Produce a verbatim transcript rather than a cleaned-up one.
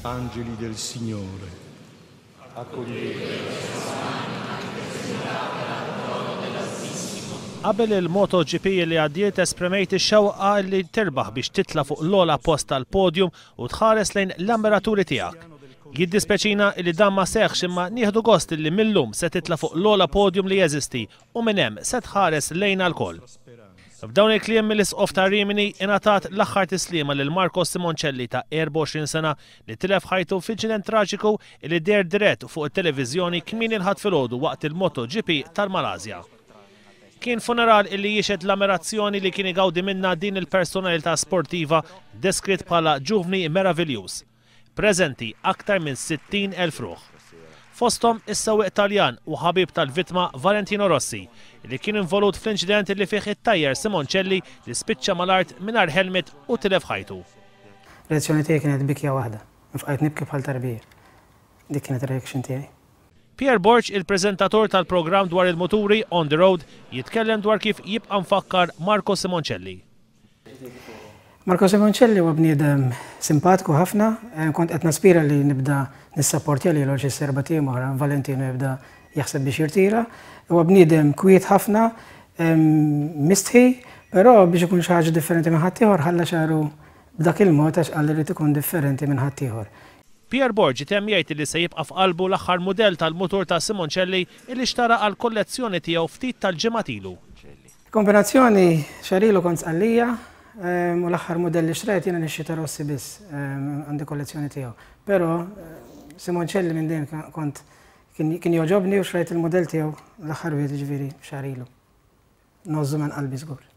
Angeli del Signore, accogliete. Qabel il-MotoGP li għaddiet esprimejt ix-xewqa li terbaħ biex titla' fuq l-ogħla post tal-podium u tħares lejn l-ammiraturi tiegħek. Jiddispeċina li dan ma seħħx imma nieħdu gost li millum se titla' fuq l-ogħla podium li jeżisti u minn hemm se tħares lejna lkoll. F'dawn il-kliem mill-Isqof ta' Rimini ingħatat l-aħħar tislima lil Marco Simoncelli ta' erbgħa u għoxrin sena li tilef ħajtu f'inċident traġiku li deher dirett fuq it-televiżjoni kmieni l-Ħadd filgħodu waqt il-MotoGP tal-Malasja. Kien funeral illi jixhed l-ammirazzjoni li kien igawdi minna din il-personalità sportiva deskritt bħala ġuvni meraviljuż. Preżenti aktar minn sittin elf ruħ. Fosthom is-sewwieq Taljan u ħabib tal-vittma Valentino Rossi li kien involut fl-inċident li fih it-tajjer Simoncelli li spiċċa mal-art mingħajr helmet u tilef ħajtu. Reazzjoni tiegħi kienet bikja waħda, nfqajt nibki bħal tarbija. Dik kienet ir-reaction tiegħi. Pierre Borg, il-preżentatur tal-programm dwar il-muturi On The Road, jitkellem dwar kif jibqa' mfakkar Marco Simoncelli. Marco Simoncelli huwa bniedem simpatiku ħafna, eh, kont qed naspira li nibda nissapportja lilu xi serba tiegħu oħra, Valentino jibda jaħseb biex jirtira. Huwa bniedem kwiet ħafna, em, mistħi, però biex ikun xi ħaġa differenti minn ħaddieħor ħalla xagħru b'dak il-mod għax qal li jrid ikun differenti minn ħaddieħor. Pierre Borg temm jgħid li se jibqa' f'qalbu l-aħħar mudell tal-mutur ta' Simoncelli li xtara għal kollezzjoni tiegħu ftit tal-ġimgħat ilu. Kombinazzjoni xarilu kont Sqallija, em, u l-aħħar mudell li xtrajt jiena nixxi ta' Rossi biss, em, għandi kollezzjoni tiegħu. Però, eh, Simoncelli minn dejjem kont kien, kien jogħġobni u xtrajt il-mudell tiegħu l-aħħar wieħed ġifieri xarilu. Ngħożżu minn qalbi żgur.